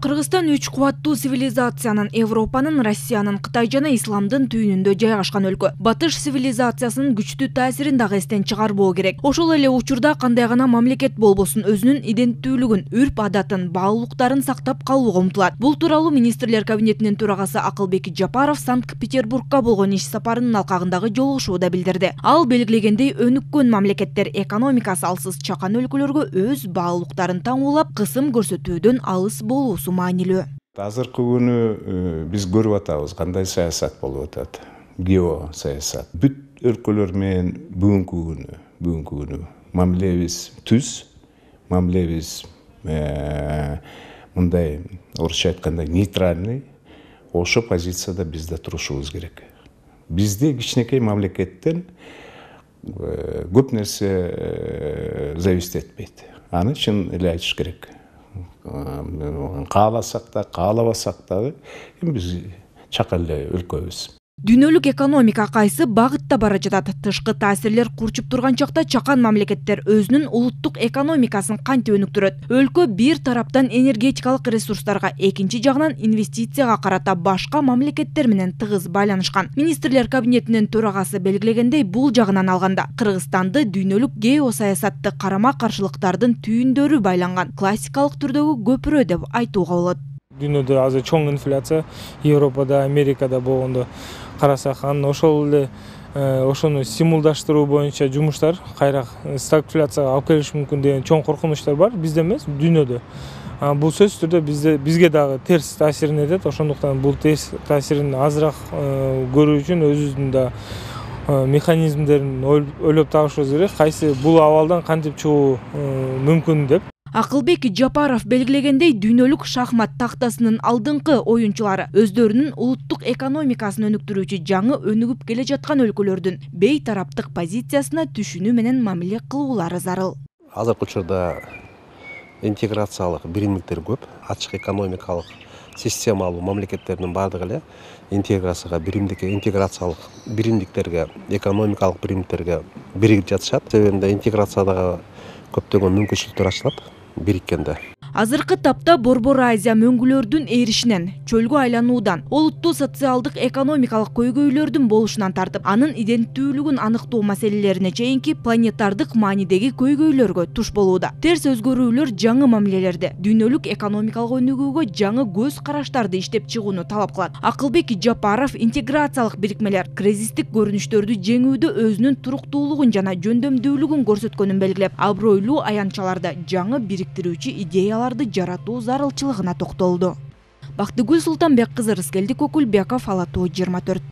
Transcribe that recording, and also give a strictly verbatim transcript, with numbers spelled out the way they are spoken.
Кыргызстан үч кубаттуу цивилизациянын Европанын, Россиянын, Кытай жана Исламдын түйүнүндө жайгашкан өлкө. Батыш цивилизациясынын күчтүү таасирин дагы эстен чыгарбоо керек. Ошол эле учурда кандай гана мамлекет болбосун өзүнүн иденттүүлүгүн, үрп-адатын, баалуулуктарын сактап калууга умтулат. Бул тууралуу министрлер кабинетинин төрагасы Акылбек Жапаров Санкт-Петербургка болгон иш сапарынын алкагындагы жолугушууда билдирди. Ал белгилегендей, өнүккөн мамлекеттер экономикасы алсыз чакан өлкөлөргө өз баалуулуктарын таңуулап, кысым көрсөтүүдөн алыс болуусу маанилүү. Азыркы күнү биз көрүп атабыз кандай саясат болуп атат. Гео саясат. Бүт өлкөлөр менен бүгүнкү күнү, бүгүнкү күнү мамилебиз түз, мамилебиз мындай орусча айтканда нейтральный. Ошо позицияда биз да турушубуз керек. Бизде кичинекей мамлекеттен көп нерсе зависит этпейт. Аны чын эле айтыш керек. Кааласак да, каалабасак дагы биз чакан эле өлкөбүз. Дүйнөлүк экономика кайсы багытта бара жатат? Тышкы таасирлер курчуп турган чакта чакан мамлекеттер өзүнүн улуттук экономикасын кантип өнүктүрөт? Өлкө бир тараптан энергетикалык ресурстарга, экинчи жагынан инвестицияга карата башка мамлекеттер менен тыгыз байланышкан. Министрлер кабинетинин төрагасы белгилегендей, бул жагынан алганда Кыргызстанды дүйнөлүк геосаясатты карама-каршылыктардын түйүндөрү байланган классикалык түрдөгү көпүрө деп айтууга болот. Дүйнөдө азыр чоң инфляция, Европада, Америкада болгондо карасак, анан ошол эле ошону стимулдаштыруу боюнча жумуштар кайра стагфляцияга алып келиши мүмкүн деген чоң коркунучтар бар, бизде эмес, дүйнөдө. Бул сөзсүз түрдө бизде бизге дагы терс таасирин этет, ошондуктан бул терс таасирин азыраак көрүү үчүн өзүбүздүн да механизмдерин ойлоп табышыбыз керек, кайсы бул абалдан кантип чыгуу мүмкүн деп. Акылбек Жапаров белгилегендей, дүйнөлүк шахмат тактасынын алдыңкы оюнчулары өздөрүнүн улуттук экономикасын өнүктүрүүчү жаңы өнүгүп келе жаткан өлкөлөрдүн бейтараптык позициясына түшүнүү менен мамиле кылуулары зарыл. Азыркы учурда интеграциялык биримдиктер көп, ачык экономикалык системалуу мамлекеттердин баардыгы эле интеграцияга, биримдикке, интеграциялык биримдиктерге, экономикалык биримдиктерге биригип жатышат. Себебинде интеграциядагы көптөгөн мүмкүнчүлүктөр ачылат бириккенде. Азыркы тапта Борбор Азия мөңгүлөрдүн эришинен, чөлгө айлануудан, олуттуу социалдык экономикалык көйгөйлөрдүн болушунан тартып, анын иденттүүлүгүн аныктоо маселелерине чейинки планетардык маанидеги көйгөйлөргө туш болууда. Терс өзгөрүүлөр жаңы мамилелерди, дүйнөлүк экономикалык өнүгүүгө жаңы көз караштарды иштеп чыгууну талап кылат. Акылбек Жапаров интеграциялык бирикмелер кризистик көрүнүштөрдү жеңүүдө өзүнүн туруктуулугун жана жөндөмдүүлүгүн көрсөткөнүн белгилеп, абройлуу аянтчаларды, жаңы бириктирүүчү идеялар жаратуу зарылчылыгына токтолду. Бактыгүл Султанбек кызы, Рыскелди Кокулбеков, Ала Тоо жыйырма төрт.